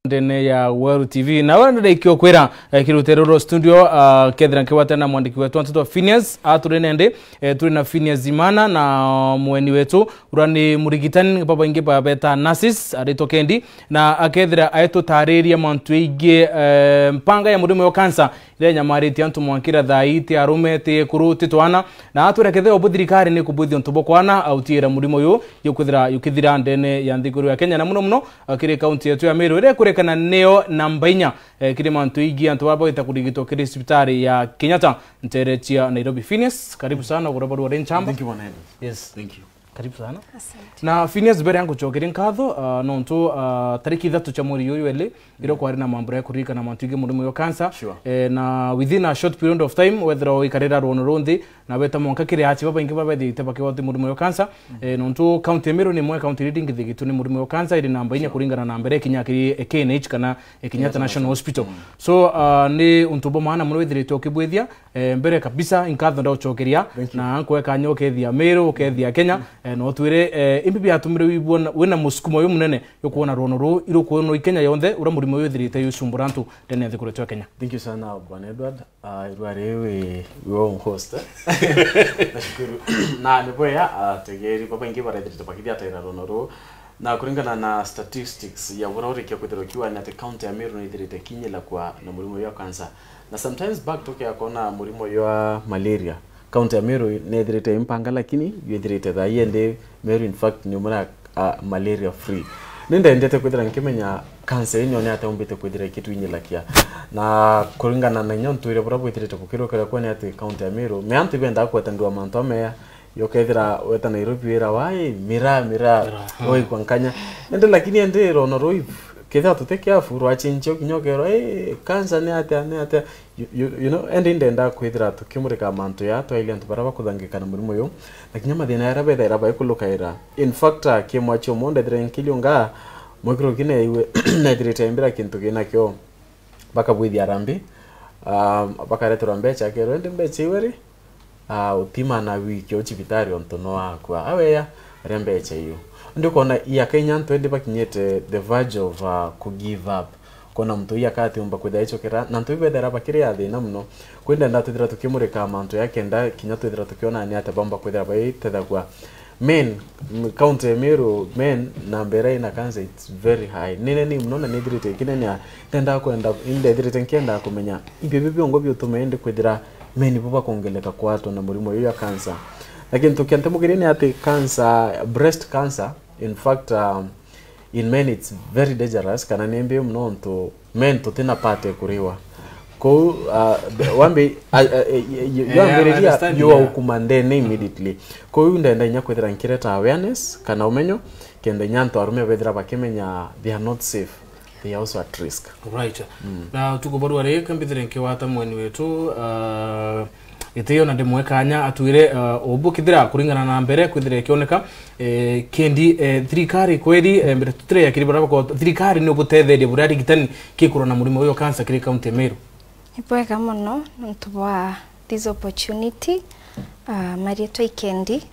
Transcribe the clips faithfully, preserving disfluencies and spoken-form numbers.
ndene ya Weru T V. Na wenda ndikio kwira, eh, kirute ruru studio, ah, kethira nkigwatana na mwandiki wetu wa nteto Phineas, aturi nende, eh, turi na Phineas Imana na mweni wetu, ura ni murigitani, babaingi babeta nurses, aritwa Kendi, na akethira aitutariria mantu igie, eh, mpanga ya murimo wa cancer, iria inyamaritie antu mwankira thaa ii, ti arume, ti ekuru, ti twana, na atwira kethira ubu thirikari ni kubwithia untu bukwana autiira murimo uyu, yukwithira yukithira ndene ya nthiguru ya Kenya, na muno muno, ah, kiri kaunti yetu ya Meru, iria ikurekana niyo namba inya, eh, kiri mantu igie antu baba bagwita kurigitwa kiri cibitari ya Kenyatta ntere cia Nairobi. Phineas, karibu sana, ugura barua ri nchamba. Thank you, Bwana Edward. Yes. Thank you. Karibu sana. Asante. Na Phineas, mbere ya ngucokeria nkatho, ah, nontu, ah, tariki ithatu cia mweri uyu eli, irio kwari na mambura ya kuririkana mantu igie murimo uyu wa cancer. Sure. Eh, na within a short period of time, wethira wikarira rwono runthi, na weta mwanka kiri achi babaingi babethirite bakigwati murimo uyu wa cancer. Eh, nontu county ya Meru ni imwe ya county iria ingithigitwe ni murimo uyu wa cancer, iri namba inya kuringana na mbere kinya kiri, eh, K N H kana, eh, Kenyatta National Hospital. So, ah, ni untu bwa maana muno withirite ukibwithia, eh, mbere kabisa, inkatho ndaucokeria, na nkweka nyo ukethia Meru, ukethia Kenya, eh, no twire, eh, imbi biatumire wibona wina musukumo uyu munene, yukwona rwono ruu, irukwonwa i Kenya yonthe, ura murimo uyu withirite yucumbura antu ndene ya nthiguru yetu ya Kenya. Thank you sana, Bwana Edward. Ah, irua riu wi, wi wa host. Nashukuru. Na ni bwega, ah, ategeri babaingi barethirite bakithiataira rwono ruu. Na kuringana na statistics ya bura urikia kwithirwa ukiuga ni ati county ya Meru ni ithirite kinyila kwa na murimo uyu wa cancer. Na sometimes back tukia kuona murimo uyu wa malaria. County ya Meru ni ithirite impanga, lakini yu ithirite thaa ii ndi Meru, in fact, ni umwe na, ah, malaria free. Ni ndendete kwithira nkimenya cancer ino ni atia umbite kwithira ikitwinyilakia. Na kuringana na inya ntuire bura bwithirite bukirukira kwa ni ati county ya Meru, me antu ibendaa kwetanirwa mantu ameya, yokethira weta Nairobi wira wai, mira, mira, mira, hmm, oikwa nkanya. Ende lakini ende rono roi, kethira tuti careful, rwachinchio kinya ukerwa, "Eh, cancer ni atia, ni atia?" You, you, you know, ende indenda kwithira tukimurika mantu ya twailia antu bara bakuthangika na murimo uyu, na kinya mathina yaria bethaira baikulukaira. In fact, ah, kimwachi umu ndethire nkiliunga, mwikiro kine iwe, nethirite mbira kintu kinakio. Bakabwithia arambi, ah, bakareterwa mbecha, akerwa, "Indi mbecha iwe ri?" Ah, utima na wiki o cibitari ontu no akua. Aweya, aria mbecha iyo. Ndi ukona iaka inya antu indi bakinyite the verge of, ah, ku give up. Kona muntu ii akatiumba kwithira icokera, na antu iu bethira bakiri a thina muno. Kwindi ndenda twithira tukimurika mantu ya kenda, kinya twithira tukiona ni atia baumba kwithira baitethagua. Men, m-, county ya Meru, men, namba iria ina cancer, it's very high. Ni nene muno na ni ithirite ikinenea. Ndenda kwenda, indethirite nkienda kumenya, ibi bi biongo biutuma indi kwithira men bo bakongeleka kwatwa na murimo uyu ya cancer. Na kintu kia ntemukirie ni ati cancer, breast cancer, in fact, um, in men it's very dangerous, kana ni mbi muno ntu men tutina part ya kuriwa. Kou, uh, the, wambi, uh, uh, uh, you, you, yeah, yeah, I yambiriria understand, you are, yeah, ukuma ndene immediately. Kou ndenda inya kwithira nkireta awareness kana umenyo, kenda inya antu arume bethira bakimenya they are not safe, they are also at risk. Right. Mm. Na tukubarua ri, kambithire nkiwata mweni wetu, uh, Gitio na ndimwe kanya atwire, eh, ubu kithira kuringana na mbere kwithira ikioneka, eh, kendi, eh, thirikari kweri, eh, mbere tutire ya kiri bara bako, thirikari ni ubutetheria buria arigitani kikura na murimo uyu wa cancer kiri county ya Meru? Ni bwega muno nontu bwa this opportunity, ah, marietwa ikendi,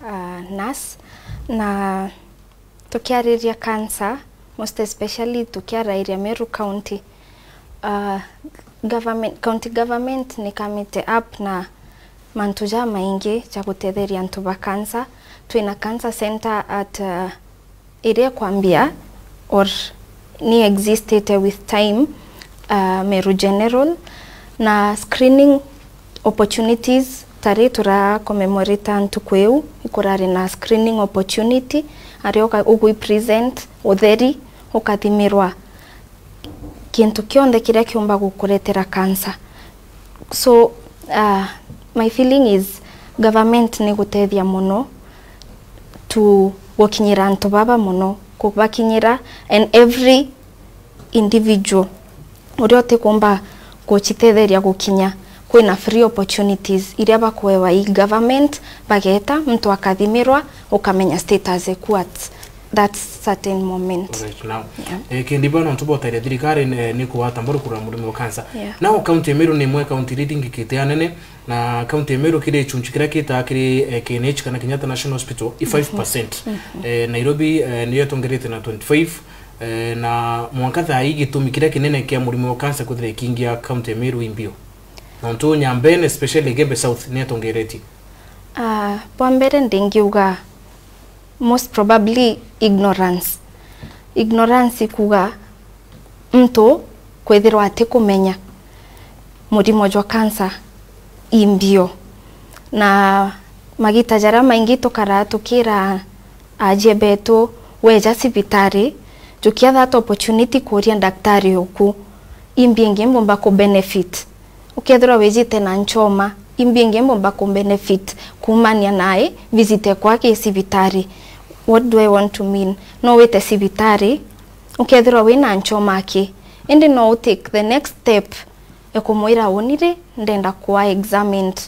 ah, nurse, na tukiariria cancer, most especially tukiarairia Meru County, ah, government, county government ni kamite up na mantu jamaingi ja gutetheria antu ba cancer. Twina cancer center at, ah, iria kwambia or ni existite with time, ah, Meru General, na screening opportunities, ta ri tura commemorate ntuku iu, ikurari na screening opportunity, aria uka-, ugwi present, utheri, ukathimirwa kintu kionthe kiria kiumba gukuretera cancer. So, uh, my feeling is government ni gutethia muno tu gukinyira antu baba muno, kubakinyira and every individual uria utikumba gucitetheria gukinya, kwina free opportunities iria bakuewa i government, bageta, muntu akathimirwa, ukamenya status eku at that certain moment. Right now. Yeah. Eh, kendi bwana, nontu botaire thirikari ni, ni kuwata mbaru kurwa murimo wa cancer. Yeah. Now, county ya Meru ni imwe county iria ithingikite anene, na county ya Meru kiri gicunchi kiria kitaa kiri, eh, K N H kana Kenyatta National Hospital, i five percent. Mhm. Eh, Nairobi, eh, niyo itongerete na twenty-five, Eh, na mwanka thaa ii gitumi kiria kinene kia murimo wa cancer kwithira ikiingia county ya Meru imbio? Nontu Nyambene, especially Igembe South, ni atongeretie. Ah, bwa mbere ndingiuga most probably ignorance. Ignorance ikuga muntu kwithirwa atikumenya murimo jwa cancer imbio. Na magita jaria maingi tukaraa tukira ajie betu, weja cibitari, jukia that opportunity kuria daktari uku, imbi ingi mbumba ku benefit. Ukethirwa wijite na nchoma, imbi ingi mbumba ku benefit kumania nae visit ekwa ki cibitari. What do I want to mean? No wite cibitari, ukethirwa wina nchoma ki, indi no u take the next step e kumwira, uni ri, ndenda kwa examined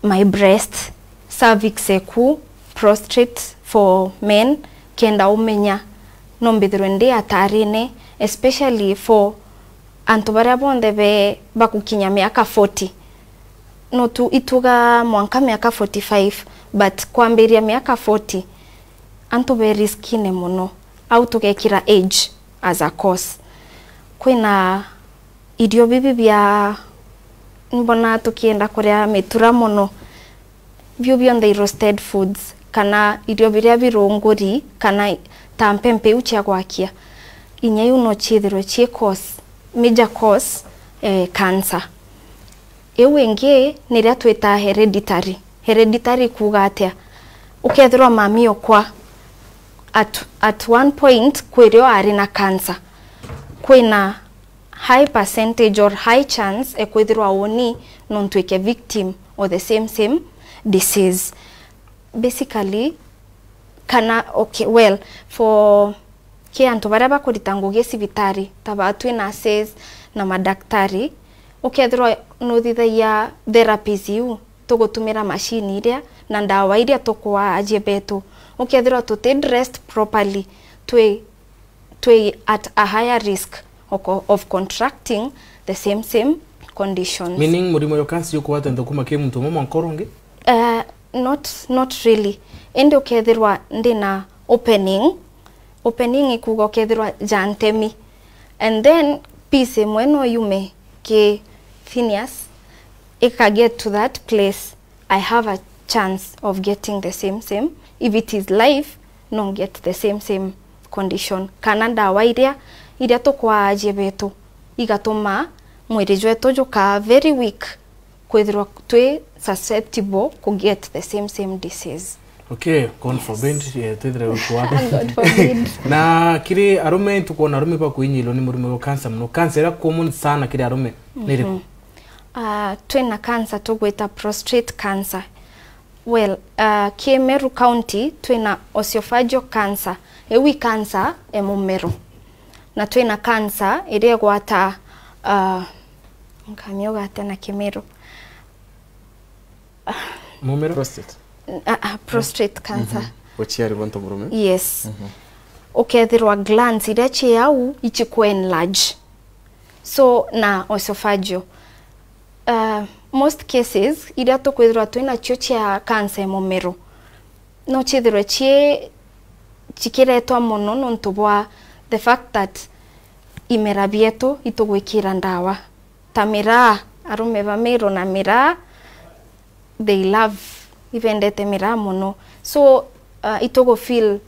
my breast, cervix eku, prostate for men, kenda umenya no mbithirwe ndi atarine, especially for antu baria bonthe be bakukinya miaka forty. No tu ituga mwanka miaka forty-five, but kwambiria miaka forty, antu be riskine muno. Au tugekira age as a cause. Kwina irio bibi bia, mbona tukienda kuria mitura muno, biu bionthe i roasted foods, kana irio biria birunguri, kana ta mpempe iu cia gwakia. Inya iu no ciithirwe cii cause, major cause, eh, cancer. Iu ingi niria twitaa hereditary. Hereditary kuuga atia? Ukethirwa mami okwa at, at one point kwirio ari na cancer, kwina high percentage or high chance e kwithirwa uni no ntwike victim of the same, same disease. Basically, kana, okay, well, for ki antu baria bakurita ngugi cibitari, ta ba twi nurses na madaktari, ukethirwa nuthithagia therapies iu, tugutumira machine iria na ndawa iria tukwaa ajie betu, ukethirwa tuti dressed properly, twi, twi at a higher risk of, of contracting the same, same conditions. Meaning, murimo yo cancer yukugwata nthukuma ki muntu umwe mwanka uria ungi? Uh, not, not really. Indi ukethirwa ndina opening, opening ikuga ukethirwa jantemi, and then piece imwe no yume ki Phineas, ika get to that place, I have a chance of getting the same, same. If it is life, no get the same, same condition. Kana ndawa iria, iria tukwaa ajie betu, igatuma mwiri jwetu jukaa very weak, kwithirwa twi susceptible ku get the same, same disease. Okay, God forbid, eh, twithire wiku waku. God forbid. Na kiri arume, tukwona arume bakuinyilwa ni murimo wa cancer muno. Cancer iria common sana kiri arume ni iriku? Mhm. Ah, twina cancer tugwita prostate cancer. Well, ah, ki Meru County twina oesophageal cancer. Iu i cancer e mumero. Na twina cancer iria igwata, ah, nkamiuga atia na Kimiru? Mumero? Prostate. Ah, ah, prostate cancer. Mhm. Uciari bwa ntomurume? Yes. Mhm. Ukethirwa glands iria ci au ichiku enlarge. So, na oesophageal. Uh, most cases iria tukwithirwa twinacio cia cancer ya mumero, no ciithirwe ci, cikiretwa muno nontu bwa the fact that imera bietu itugwikira ndawa. Ta miraa, arume ba Meru na miraa, they love, ibendete miraa muno. So, uh, itugu feel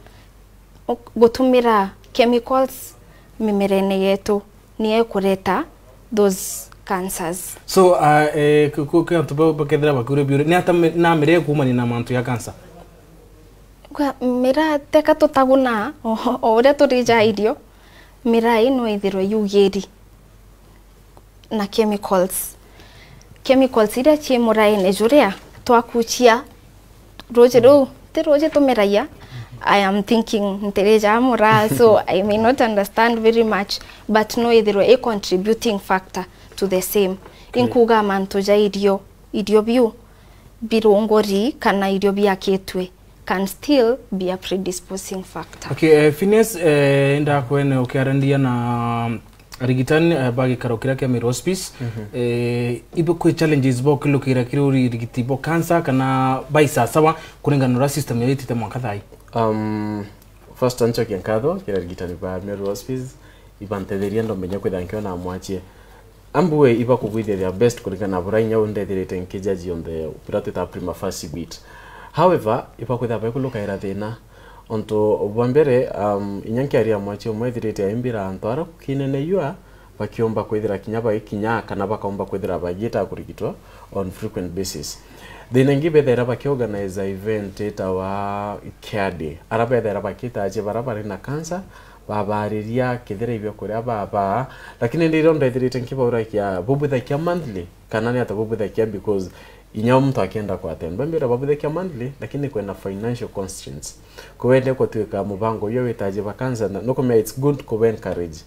uk-, gutumira chemicals mimerene yetu niyo ikureta those cancers. So, uh, eh, ku-, ku-, ki antu ba-, bakethira bakiuria biuria, ni ata mi-, na miraa ikumania na mantu ya cancer? Kwa miraa teka tutaguna o, o uria turija irio, miraa ino ithirwe yugiri na chemicals. Chemicals iria ci muraene juria twakucia ruji ruu, ti ruji tumiragia. I am thinking ntirija muraa, so I may not understand very much, but no ithirwe a contributing factor to the same. Okay. Inkuga mantu ja irio, irio biu birunguri kana irio biakitwe can still be a predisposing factor. Okay, eh, Phineas, eh, indakwene ukiarandia na arigitani, eh, ba gikaro kiria kia Meru Hospice, mhm, eh, ibo kwi challenges bo kilukira kiri urigiti bo cancer kana baisasawa kuringana na uria system yao itite mwanka thaa ii? Um, First, ncokie nkatho kiri arigitani ba Meru Hospice, ibantetheria ndomenya kwithira nkiona mwachie. Ambue iba kugwithia their best kuringana na buria inya undethirite nkijaji on the buria twitaga prima facie beat. However, iba kwithira baikulukaira thina. Ontu bwa mbere, um, inya nkiaria mwachie umwe ethirite aimbira antu ara kinene yua, bakiomba kwithira kinya baikinya kana bakaomba kwithira bagiita kurigitwa on frequent basis. Thina ingi bethaira bakiorganize event itawa Care Day, ara bethaira bakitaje bara bari na cancer, babariria kethira ibio kuria baba, lakini ndi irio ndethirite nkibaurakia bubwithakia monthly kana ni ata bubwithakia, because inya muntu akienda kwatenda mbira babwithakia monthly, lakini kwina financial constraints. Kwende kutwika mubango uyo witaji ba cancer, na nukumenya it's good ku encourage.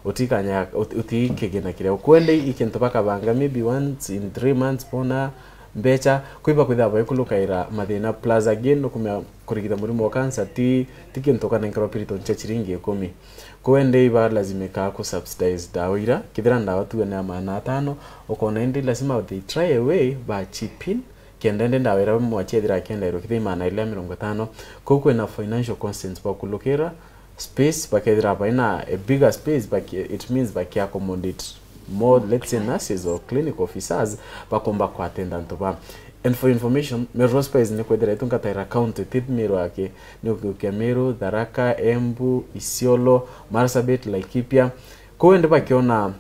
Utikanya, uti-, utikigina kiria. Ukwende ikintu bakabanga maybe once in three months bona mbecha, kwiba kwithira baikulukaira mathina. Plus again, nukumenya kurigita murimo wa cancer ti, ti kintu kanenkerwa piriton cha chiringi ikumi. Kwende iba lazimika ku subsidize dawa ira, kithira dawa tuwe ni ya maana atano, ukona indi lazima they try a way ba chip in, kenda indi ndawa iria mwachia ithira akiendairwa kithira imana iria mirongo itano. Kou kwina financial constraints bakulukira space, bakethira baina a bigger space, baki-, it means baki accommodate more, let's say, nurses or clinic officers bakomba kwatenda antu ba. And for information, Meru Hospice ni kwethira itungataira county ti Meru aki, ni ukiukia Meru, Tharaka, Embu, Isiolo, Marsabit, Laikipia. Kou indi bakiona,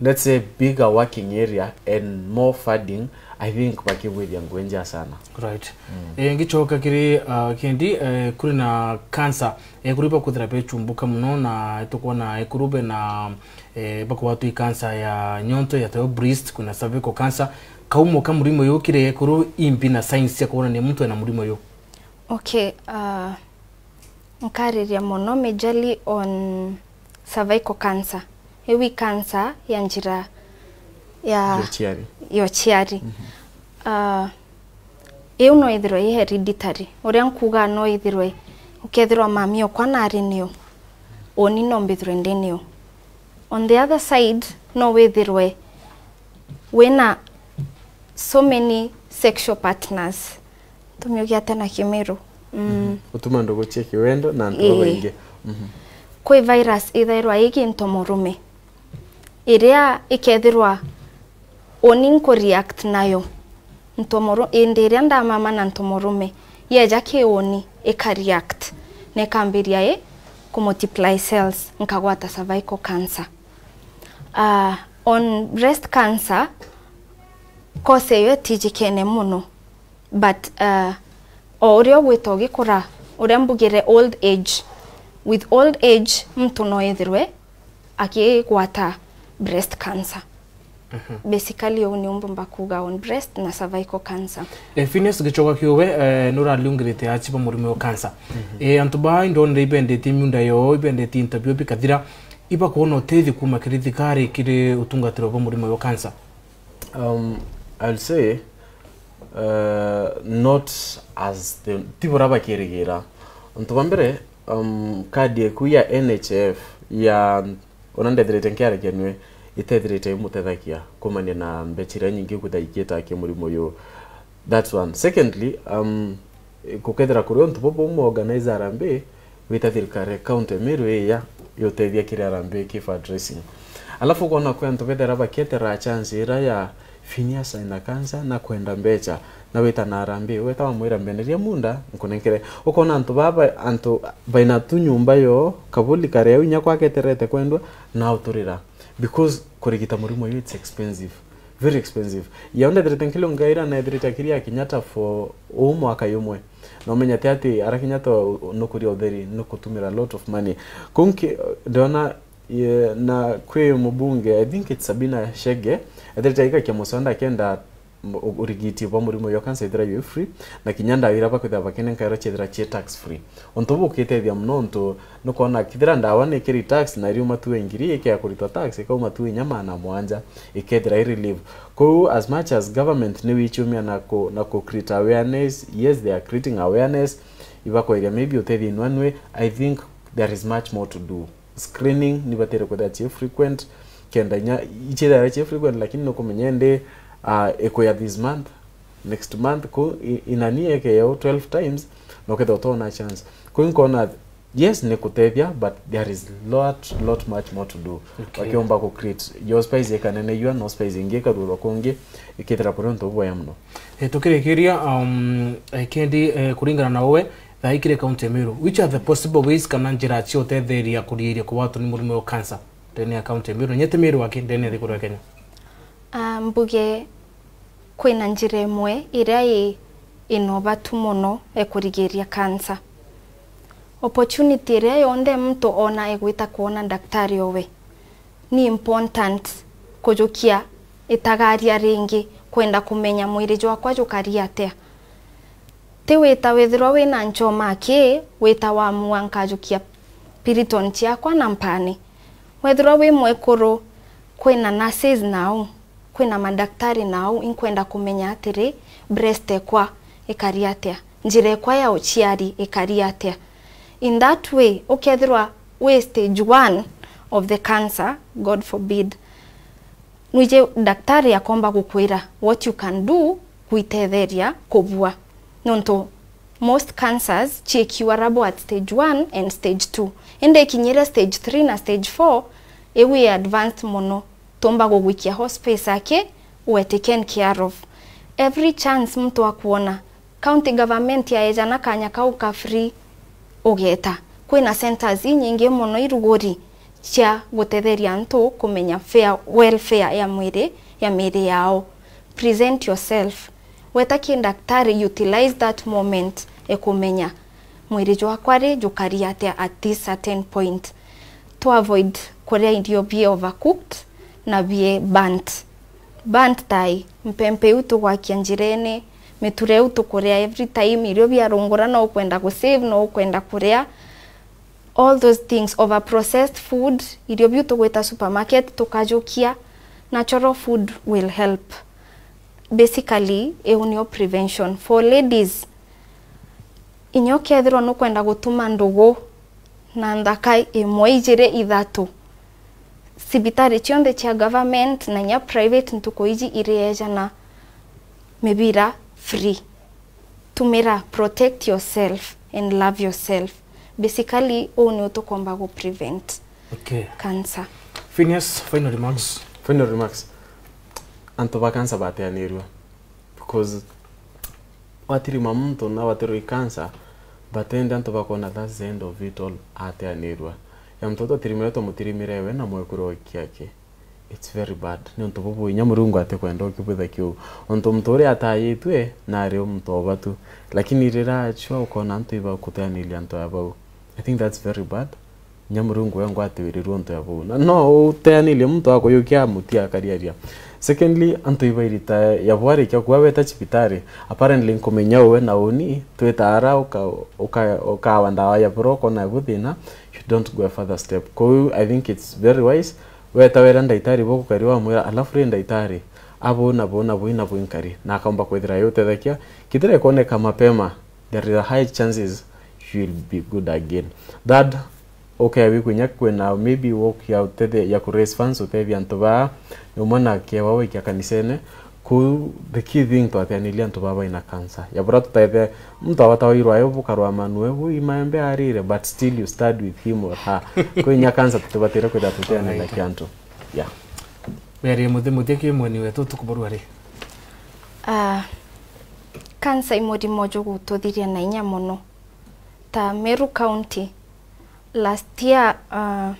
let's say, bigger working area and more funding, I think bakigwithia ngugi njega sana. Right. Mm. Eh, ngichoka kiri, uh, Kendi, eh, kuri na cancer, eh, kuri bakuthira bechumbuka muno, na tukwona ekuru be na, eh, bakugwatwa i cancer ya nyonto ya teo breast, kuna cervical cancer. Kaumo ka murimo uyu kiri ekuru imbi na signs cia kuonania muntu ena murimo uyu? Okay, uh, nkariria mono majorly on cervical cancer. Iu i cancer ya njira ya ya uciari. Ya uciari. Mhm. Ah, iu no ithirwe i hereditary. Uria nkuuga no ithirwe ukethirwa mami okwa nari niu, uni no mbithirwe ndi niu. On the other side, no withirwe wina so many sexual partners. Tumiuge atia na Kimiru? Mm. Mhm. Utuma ndugu cia kiwendo na antu, ii, babaingi. Mhm. Kwi virus ithairwa igi ntomorume, iria ikethirwa uni nku react nayo. Ntomoru-, indi iria ndamama na ntomorume, yeja ki uni ika react, na ikambiria i ku multiply cells, nkagwata cervical cancer. Ah, on breast cancer, cause iyo itijikene muno. But, uh, o uria ugwita ugikura, uria mbugire old age, with old age, muntu no ethirwe akigwata breast cancer. Mhm. Basically, uu niu mbumba kuuga on breast na cervical cancer. Eh, Phineas, gichoka kiuwe, eh, nuraliungirite achi ba murimo wa cancer. Mhm. Eh, antu ba indonire ibendetie miunda yoo, ibendetie interview bikathira, ibakuona utethio kuuma kiri thirikari kiri utungatiro bwa murimo wa cancer? Um, I'll say, uh, not as the, ti bura bakirigira. Untu bwa mbere, um, kadi eku ya N H I F ya, ona ndethirite nkiarekenwe, itethirite imutethagia kumania na mbecha iria nyingi kwithira ikiita ki murimo uyu. That's one. Secondly, um, gukethira kuri untu bubu umu organize harambee, wita thirikari ya county Meru iya yutethia kiri harambee ki fundraising. Alafu ukona kwi antu bethira bakieterera chance ira ya Phineas aina cancer na kwenda mbecha, na wita na harambee, weta wamwira, mbeneria munda nkunenkere. Ukona antu baba, antu baina tu nyumba yo, kabuli kare au inya kwaketerete kwendwa, na uturira. Because kurigita murimo uyu it's expensive. Very expensive. Yao ndethirite nkilungaira na ethirite akiria Kenyatta for uu mwaka yumwe. Na umenya ti ati ara Kenyatta nukuria utheri, nukutumira a lot of money. Kunki, ndona, ye, na kwi mubunge, I think it's Sabina Chege, ethirite aikakia muswada akenda m-, u-, urigiti bwa murimo yo cancer ithira yu free, na kinya ndawa ira bakwithira bakinenkairwa ciethira cie tax free. Untu buu ukitethia muno untu nukwona kithira ndawa ni kiri tax na iriuma tu ngiri ikea kuritwa tax, ikauma tu inya maana mwanja, ikethira i relief. Kou as much as government ni wichumia na ku, na ku create awareness, yes, they are creating awareness, ibakweria maybe utethia inwanwe, I think there is much more to do. Screening ni batire kwithira ci frequent, kenda inya ichithira ci frequent, lakini nukumenya indi, ah, ikuya this month, next month, ku i-, inani eke yao twelve times, na ukethira utona chance. Ku nkona Yes, ni kutethia, but there is lot, lot much more to do. Okay. Wakiomba ku create your space ikaneneyua, no space ingi ikarurwa kungi, ikithira kuri untu bubwega muno. Eh, tukirikiria, um, eh, Kendi, eh, kuringana na uwe, thaa ikiri county ya Meru, which are the possible ways kana njira cia utetheria kurigiria kugwatwa ni murimo wa cancer ndene ya county ya Meru? Nyete Meru aki ndene ya thiguru ya Kenya. Ah, mbuge kwina njira imwe iria i, ina ubatu muno e kurigiria cancer. Opportunity iria yonthe muntu ona egwita kwona daktari owe, ni important kujukia itagaria ringi, kwenda kumenya mwiri jwakwa jukari atia. Ti wita withirwa wina nchoma aki, wita wamua nkajukia piriton ciakwa na mpani. Wethirwa wi mwekuru, kwina nurses nau, kwina madaktari nau, inkwenda kumenya atiri, breast ekwa ikari atia, njira ekwa ya uciari ikari atia. In that way, ukethirwa wi stage one of the cancer, God forbid, nwiji daktari akomba gukwira what you can do gwitetheria kubua. Nontu most cancers ciikiwa rabo at stage one and stage two. Indi ikinyire stage three na stage four, iu i advanced muno. Tumba gugwikia hospice aki, we taken care of. Every chance muntu akwona, county government yaejana kanya kau ka free, ugeta. Kwina centers inyingi muno iruguri cia gutetheria antu kumenya fair, welfare ya mwiri, ya miiri yao. Present yourself. Weta ki daktari, utilize that moment e kumenya mwiri jwakwa ri jukari atia at this certain point. To avoid kuria irio bi overcooked na bi burnt. Burnt tai, mpempe iu tugwakia njirene, miture iu tukuria every time, irio biarungura no ukwenda gu save, no ukwenda kuria. All those things, over processed food, irio biu tugwita supermarket tukajukia, natural food will help. Basically, iu nio prevention. For ladies, inya ukethirwa nukwenda gutuma ndugu na nthaka imwe, ijiri, ithatu, cibitari cionthe cia government na inya private ntuku iji iriejana mibira free. Tumira protect yourself and love yourself. Basically, uu niu tukomba gu prevent Okay. cancer. Phineas, final remarks. Final remarks. Antu ba cancer bateanirua. Because watirima muntu na watirwa i cancer, but indi antu bakona that's the end of it all, ateanirua. Ya muntu twatirimire, twamutirimire we na mwekuru wa wiki yake. It's very bad. Ni untu bubu inya Murungu atikwenda ukibwitha kiu. Untu muntu uria atayitwe nari o muntu o batu. Lakini rira achua ukona antu iba kuteaniria antu ya bau. I think that's very bad. Inya Murungu we ngwatiwirirwe untu ya bau. Na no uteanirie muntu akuyukia muti akariaria. Secondly, antu iba irita ya bwarikia kuwa weta cibitari. Apparently nkumenya uwe na uni, twita ara uka-, uka-, ukawa ndawa ya bura ukona ibu thina. You don't go a further step. Kou, I think it's very wise. Weta wera ndaitari bo gukari wamwira, alafu ri ndaitari, abu na bu na bu na bu inkari, na akaumba kwithira yutethekia. Kithira ikoneka mapema, there is a high chances you will be good again. Third, okay, wikunya kwina maybe work ya utethia, ya ku raise funds, utethia antu baa, ni umwe na kiewa wikia kanisene, Ku the key thing twateaniria antu baba baina cancer. Ya bura tutaithe muntu abata wairwa ayo bukarwa manue bu imaembe arire, but still you stand with him or her. Kwinya cancer tutibatire kwithira tuteanira Alright. kiantu. Yeah. Mary muthi muthi ki mweni wetu tukuburua ri? Ah, cancer i murimo jugututhiria na inya muno. Ta Meru County, last year, ah,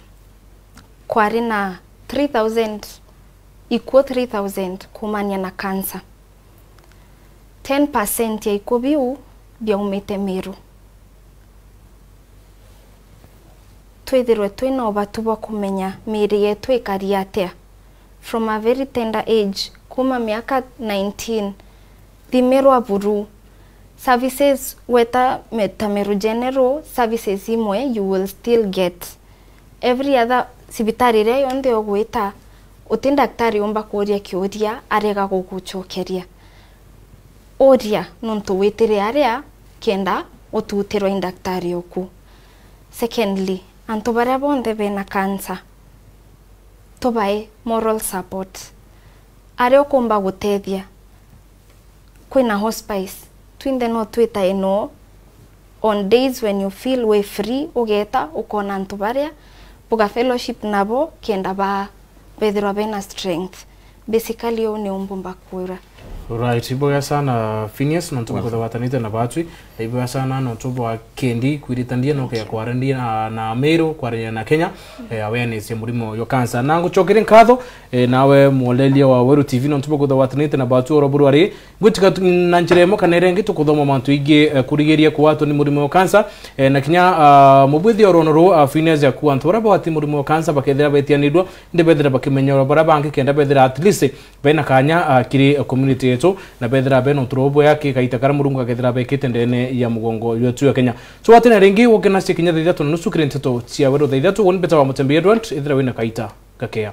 kwari na three thousand ikuo three thousand kuumania na cancer. Ten percent ya ikuo biu biaumite Meru. Twithirwe twina ubatu bwa kumenya miiri yetu ikari atia. From a very tender age, kuma miaka nineteen, thimirwa buru. Services weta me-, ta Meru General, services imwe you will still get. Every other cibitari iria yonthe ugwita, uti ndaktari umba kuuria kiuria arega gugucokeria. Uria nontu witire aria kenda ututirwa i ndaktari uku. Secondly, antu baria bonthe bena cancer, tubae moral support. Aria ukumba gutethia, kwina hospice, twinthe no twitae no On days when you feel we free, ugeta ukona antu baria buga fellowship nabo kenda ba bethirwa bena strength. Basically, uu ni umbumba kwira. Right, ibwega sana Phineas, nontu bwa kwithirwa watanite na batwi, ibwega sana nontu bwa kendi kwiritania no kea kwarandia na, na Meru, kwarandia na Kenya, eh, awareness ya murimo yo cancer. Na ngucokeria nkatho, eh, nawe mwoleria wa Weru T V nontu bwa kwithirwa watanite na batwi oro buru ari, ngwitika tu-, na njira imwe kana iria ingi tukuthoma mantu ingi, eh, kurigiria kugwatwa ni murimo yo cancer, eh, na kinya, ah, mubwithia orono ruu, ah, Phineas, ya kuwa antu baria bagwati murimo yo cancer bakethira betianirua, indi bethira bakimenya baria bangi kenda bethira at least bena kanya, ah, kiri, eh, community yetu, na bethira bena uturo bwega ki kaita karia Murungu akethira bekite ndene ya mugongo wetu ya Kenya. Tugwatene ringi gukena cia kinya thaa ithatu na nusu kiri nteto cia Weru thaa ithatu. Uni mbeta wa Mutembi Edward, ethira wina kaita gakea.